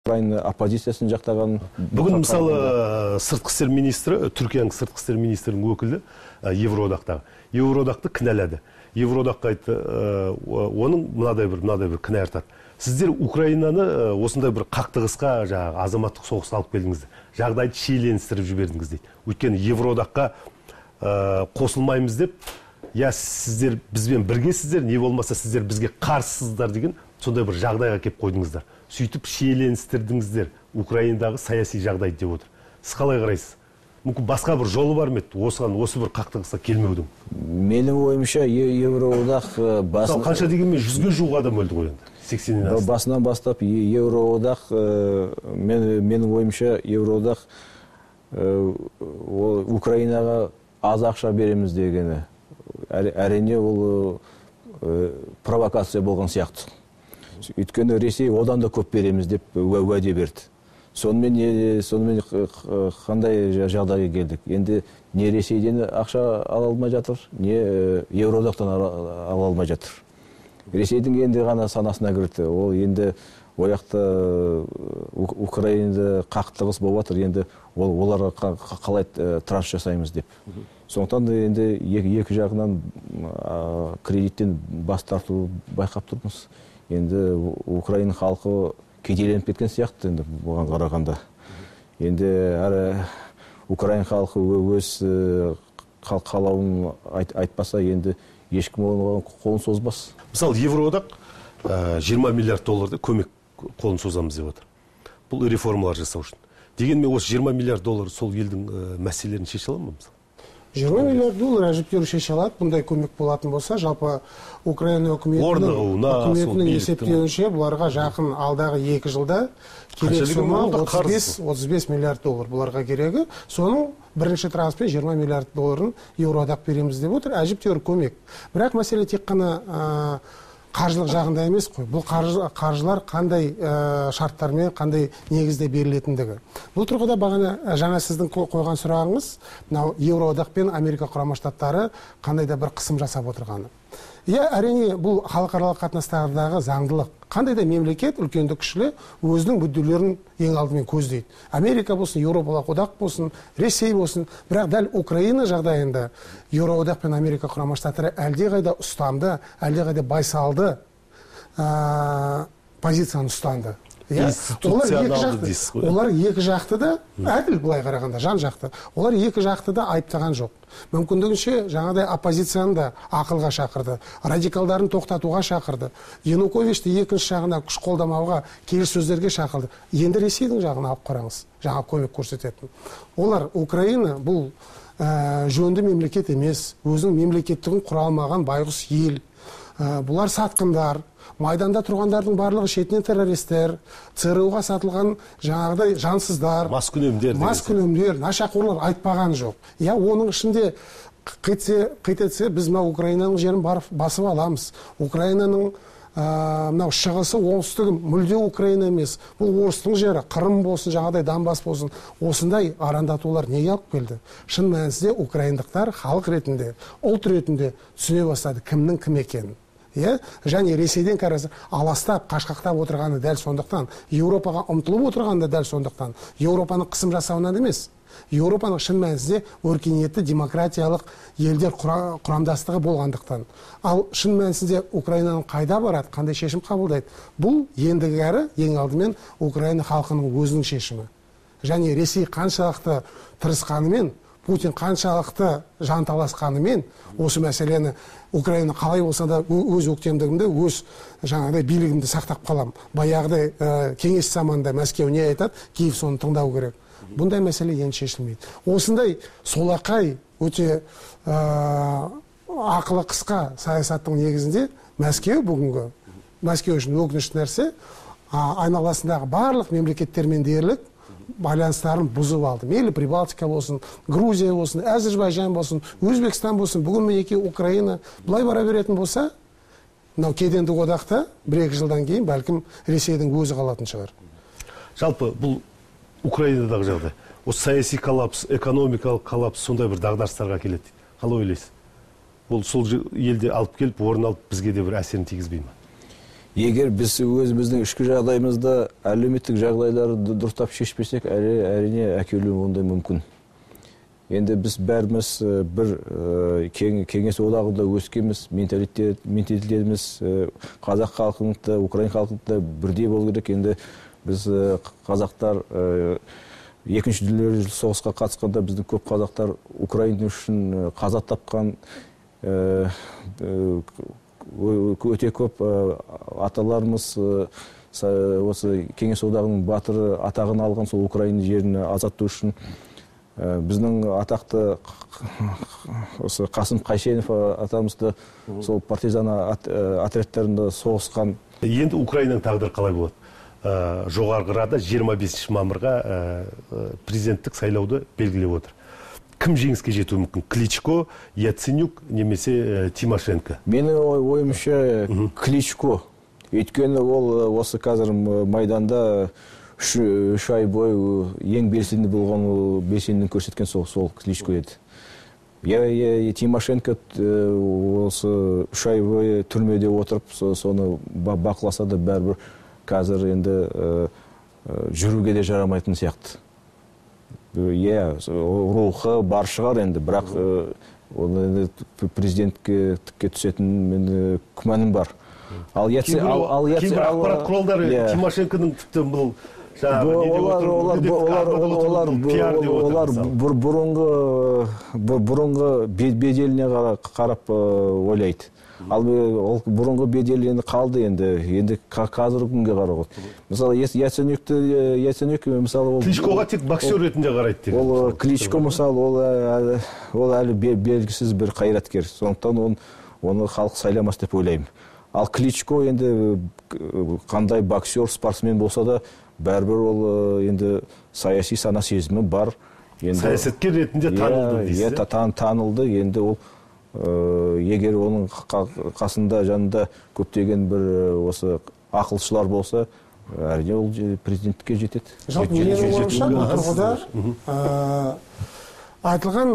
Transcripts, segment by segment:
Украина оппозициясын жақтаған. Бүгін мысалы сыртқы істер министрі, Түркияның сыртқы істер министрінің өкілі Евроодақтағы. Евроодақты кінәлады. Евроодаққа айтты, оның мынадай бір кінә артады. Сіздер Украинаны осындай бір қақтығысқа, азаматтық соғысқа алып келдіңіздер. Жағдайды шиеленістіріп жібердіңіз дейді. Өйткені Евроодаққа қосылмаймыз деп, я сіздер бізбен біргесіздер, не болмаса сіздер бізге қарсысыздар деген сондай бір жағдайға келіп қойдыңыздар. Сөйтіп шиеленістірдіңіздер Украинадағы саяси жағдайды деп отыр. Сіз қалай қарайсыз? Мүмкін басқа бір жолы бар ма еді осы бір қақтығысқа келмеудің? Менің ойымша Евроодақ қанша дегенмен 100-ге жуық адам өлді ғой енді. 80-нен асты. Басынан бастап Евроодақ, менің ойымша Евроодақ Украинаға аз ақша береміз дегені. Әрине ол провокация болған сияқты. Өйткені Ресей одан да көп береміз деп уәде берді. Сонымен қандай жағдайға келдік? Енді не Ресейден ақша ала алмай жатыр, не Евроодақтан ала алмай жатыр. Ресейдің енді ғана санасына кірді. Ол енді ояқта Украинада қақтығыс болып жатыр, енді оларға қалай транш жасаймыз деп. Сондықтан енді екі жағынан кредиттен бас тарту байқап тұрмыз. Енді Украина халқы кедейленіп кеткен сияқты енді бұған қарағанда. Енді Украина халқы өз қалауын айтпаса, енді ешкім оған қолын созбас. Мысалы, Евроодақ 20 миллиард долларды көмек қолын созамыз деп отыр. Бұл реформалар жасау үшін. Дегенмен осы 20 миллиард доллар сол елдің мәселелерін шеше ала ма мысалы? 20 миллиард доллар әжептәуір шеше алады. Бұндай көмек болатын болса, жалпы Украина үкіметінің есептеуінше бұларға жақын алдағы 2 жылда керек сома 35 миллиард доллар бұларға керегі. Соның бірінші транспен 20 миллиард долларын Евроодақ береміз деп отыр. Әжептәуір көмек. Бірақ мәселе тек қана қаржылық жағында емес қой. Бұл қаржылар қандай шарттармен, қандай негізде берілетіндігі. Бұл тұрғыда бағана жаңа сіздің қойған сұрағыңыз, Евроодақ пен Америка Құрама Штаттары қандай да бір қысым жасап отырғаны. Әрине, бұл халықаралық қатынастардағы заңдылық. Қандай да мемлекет, үлкенді кішілі, өзінің мүдделерін ең алдымен көздейді. Америка болсын, Еуропалық одақ болсын, Ресей болсын, бірақ дәл Украина жағдайында Еуроодақ пен Америка Құрама Штаттары әлдеқайда ұстамды, әлдеқайда байсалды позицияны ұстанды. Олар екі жақты да, әділ былай қарағанда, жан жақты, олар екі жақты да айыптаған жоқ. Мүмкіндігінше жаңадай оппозицияны да ақылға шақырды, радикалдарын тоқтатуға шақырды, Януковичті екінші жағына күш қолдамауға, келіссөздерге шақырды. Енді Ресейдің жағына алып қараңыз, жаңа көмек көрсететін. Олар Украина бұл жөнді мемлекет емес, өзінің мемлекеттігін құра алмаған байғұс ел. Бұлар сатқындар, майданда тұрғандардың барлығы шетінен террористер, ЦРУ-ға сатылған жаңағыдай жансыздар, маскүнемдер, нашақорлар айтпаған жоқ. Оның ішінде қитетсе, біз Украинаның жерін басып аламыз. Украинаның шығысы, оңтүстігі мүлде Украина емес. Бұл орыстың жері, Қырым болсын, жаңағыдай Донбасс болсын. Осындай арандатулар неге алып келді? Шын мәнісінде украиндықтар халық ретінде, ұлт ретінде түсіне бастады кімнің кім екенін. Және Ресейден қарасы аластап, қашқақтап отырғаны дәл сондықтан, Еуропаға ұмтылып отырғаны дәл сондықтан, Еуропаның қысым жасауынан емес, Еуропаның шын мәнісінде өркениетті демократиялық елдер құрамдастығы болғандықтан. Ал шын мәнісінде Украинаның қайда барады, қандай шешім қабылдайды? Бұл ендігі әрі ең алдымен Украина халқының өзінің шешімі. Және Ресей қаншалықты тырысқанымен, Путин қаншалықты жанталасқанымен осы мәселені Украина қалай болса да өз өктемдігімді, өз жаңағыдай билігімді сақтап қалам. Баяғыдай кеңес заманында Мәскеу не айтады, Киев соны тыңдау керек. Бұндай мәселе енді шешілмейді. Осындай солақай өте ақылы қысқа саясаттың негізінде Мәскеу бүгінгі, Мәскеу үшін өкінішті нәрсе, айналасындағы барлық мемлекеттермен дерлік байланыстарын бұзып алды. Мейлі Прибалтика болсын, Грузия болсын, Әзербайжан болсын, Өзбекстан болсын, бүгін мінекей Украина бұлай бара беретін болса, кедендік одақта 1-2 жылдан кейін бәлкім Ресейдің өзі қалатын шығар. Жалпы бұл Украинадағы жағдай, осы саяси коллапс, экономикалық коллапс сондай бір дағдарыстарға келеді. Қалай ойлайсыз? Бұл сол елде алып келіп, орын алып бізге де бір әсерін тигізбей ме? Егер біз өзіміздің ішкі жағдайымызда әлеуметтік жағдайларды дұрыстап шешпесек, әрине әкелуі ондай мүмкін. Енді біз бәріміз бір кеңес одағында өскенбіз, менталитетіміз қазақ халқында, украин халқында бірдей болу керек. Енді біз қазақтар екінші дүниежүзілік соғысқа қатысқанда біздің көп қазақтар Украина үшін қаза тапқан, өте көп аталарымыз осы кеңес одағының батыры атағын алған, сол Украина жерін азаттау үшін. Біздің атақты осы Қасым Қайсенов атамызды сол партизан отрядтарында соғысқан. Енді Украинаның тағдыры қалай болады? Жоғарғы Рада 25 мамырға президенттік сайлауды белгілеп отыр. Кім жеңіске жетуі мүмкін? Кличко, Яценюк немесе Тимошенко? Менің ойымша Кличко. Өйткені ол осы қазір майданда 3 ай бойы ең белсенді болған, белсенділігін көрсеткен сол Кличко еді. Тимошенко осы 3 ай бойы түрмеде отырып, соны бақыласа да бәрібір қазір енді жүруге де жарамайтын сияқты. Рухы бар шығар енді, бірақ президентке түсетін менің күмәнім бар. Кейбір ақпарат құралдары Тимошенконың тіпті бұл олар бұрынғы беделіне қарап ойлайды. Ал бұрынғы беделі енді қалды, енді қазіргі күнге қарап. Мысалы Яценюк мысалы Кличкоға тек боксер ретінде қарайды. Ол Кличко мысалы ол әлі белгісіз бір қайраткер. Сондықтан оны халық сайламас деп ойлаймын. Ал Кличко енді қандай боксер, спортсмен болса да, бәрібір ол енді саяси сана сезімі бар. Саясаткер ретінде танылды дейсіз? Танылды. Енді ол егер оның қасында, жанында көптеген бір осы ақылшылар болса, әрине ол президенттікке жетеді. Жалпы менің ойымша бұл тұрғыда айтылған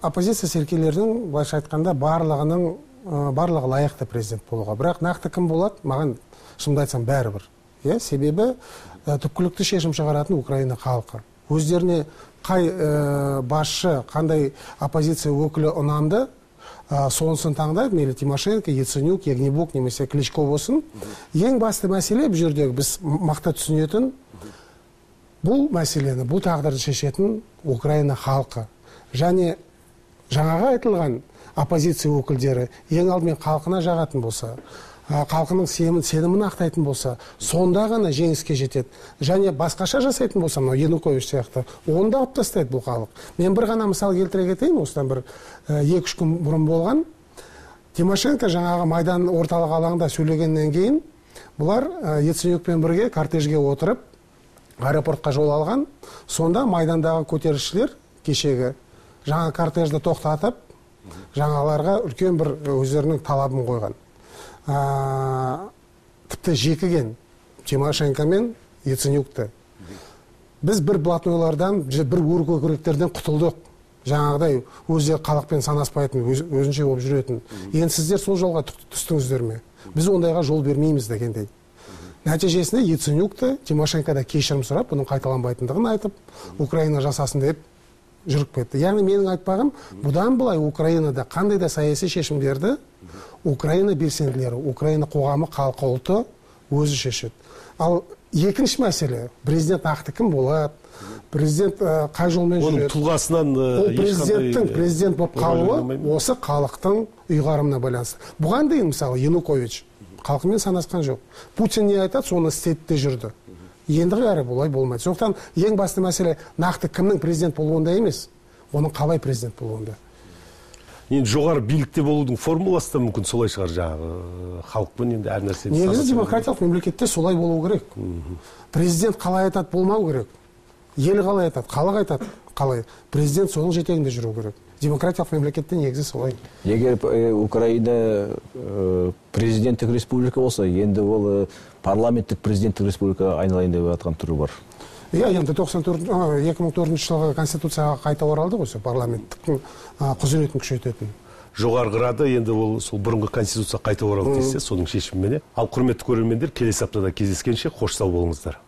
оппозиция серкелердің, былайша айтқанда, барлығы лайықты президент болуға. Бірақ нақты кім болады, маған шынымды айтсам бәрібір. Себебі түпкілікті шешім шығаратын Украина халқы. Өздеріне қай басшы, қандай оппозиция өкілі ұнамды, сонысын таңдайды, мейлі Тимошенко, Яценюк, Ягнебук немесе Кличко болсын. Ең басты мәселе бұл жердегі біз мақта түсінетін бұл мәселені, бұл тағдырды шешетін Украина халқы. Және жаңаға айтылған оппозиция өкілдері ең алдымен халқына жағатын болса, халқының сенімін ақтайтын болса, сонда ғана жеңіске жетеді. Және басқаша жасайтын болса, Янукович сияқты, оны да алып тастайды бұл халық. Мен бір ғана мысал келтіре кетейін, осыдан бір 2-3 күн бұрын болған. Тимошенко жаңағы Майдан орталық алаңында сөйлегеннен кейін, бұлар Яценюкпен бірге кортежге отырып, аэропортқа жол алған. Сонда Майдандағы көтерілісшілер кешегі жаңа кортежді тоқтатып, жаңаларға үлкен бір өздерінің талабын қойған. Тіпті жекіген Тимошенко мен Яценюкті. Біз бір блатнойлардан, бір өркөкіректерден құтылдық. Жаңағыдай өздері халықпен санаспайтын, өзінше болып жүретін. Енді сіздер сол жолға түстіңіздер ме? Біз ондайға жол бермейміз дегендей. Нәтижесінде Яценюкті Тимошенкода кешірім сұрап, бұның қайталанбайтындығын айтып, Украина жасасын деп жүріп кетті. Яғни менің айтпағым, бұдан былай Украинада қандай да саяси шешімдерді Украина белсенділері, Украина қоғамы, халқы, ұлты өзі шешеді. Ал екінші мәселе, президент нақты кім болады, президент қай жолмен жүреді. Оның тұлғасынан президенттің президент болып қалуы осы халықтың ұйғарымына байланысты. Бұған дейін мысалы Янукович халқымен санасқан жоқ. Путин не айтады, соны істейді де жүрді. Енді әрі бұлай болмайды. Сондықтан ең басты мәселе нақты кімнің президент болуында емес, оның қалай президент болуында. Енді жоғары билікте болудың формуласы да мүмкін солай шығар, жаңағы халықпен енді әр нәрсе. Негізі демократиялық мемлекетте солай болу керек. Президент қалай айтады, болмау керек. Ел қалай айтады, халық айтады, қалай. Президент соның жетегінде жүру керек. Демократиялық мемлекетте негізі солай. Егер Украина президенттік республика болса, енді ол парламенттік президенттік республика айналайын деп жатқан түрі бар. Енді 2004 жылғы конституцияға қайта оралды ғой, парламенттің құзыретін күшейтетін. жоғарғырады, енді ол сол бұрынғы конституция қайта оралды десе, соның шешіміменен. Ал құрметті көрермендер, келесі аптада кездескенше қош сау болыңыздар.